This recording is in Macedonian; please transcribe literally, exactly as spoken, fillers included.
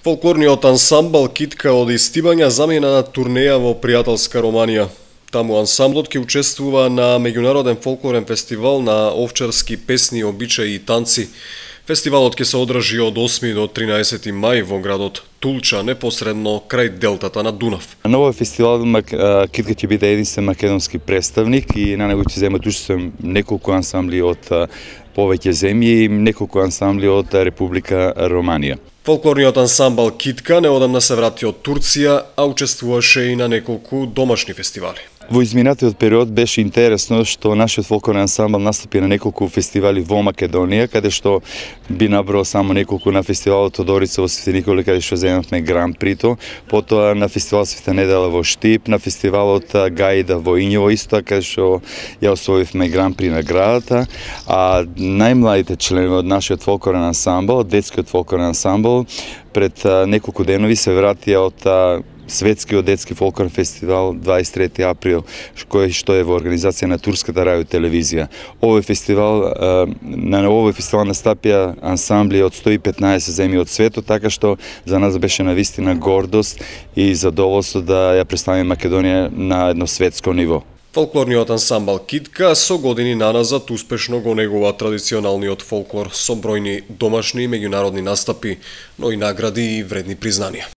Фолклорниот ансамбл Китка од Истибања замина на турнеја во пријателска Романија. Таму ансамблот ќе учествува на меѓународен фолклорен фестивал на овчарски песни, обичаи и танци. Фестивалот ќе се одржи од осми до тринаесети мај во градот Тулча, непосредно крај делтата на Дунав. На овој фестивал Китка ќе биде единствен македонски представник и на него ќе земат учество неколку ансамбли од повеќе земји и неколку ансамбли од Република Романија. Фолклорниот ансамбл Китка неодамна се врати од Турција, а учествуваше и на неколку домашни фестивали. Во изминатиот период беше интересно што нашиот фолклорен ансамбл настапи на неколку фестивали во Македонија, каде што би набрал само неколку на фестивалот Тодорица во Свети Николе, каде што земавме Гран Прито, потоа на фестивал Света недела во Штип, на фестивалот Гаида во Ињево исто, каде што ја освоивме Гран При наградата, а најмладите членови од нашиот фолклорен ансамбл, детскиот фолклорен ансамбл, пред неколку денови се вратија од Светскиот детски фолклорен фестивал дваесет и трети април, кој што е во организација на турската радио телевизија. Овој фестивал, на овој фестивал настапија ансамбли од сто и петнаесет земји од светот, така што за нас беше навистина гордост и задоволство да ја представиме Македонија на едно светско ниво. Фолклорниот ансамбл Китка со години наназад успешно го негува традиционалниот фолклор со бројни домашни и меѓународни настапи, но и награди и вредни признанија.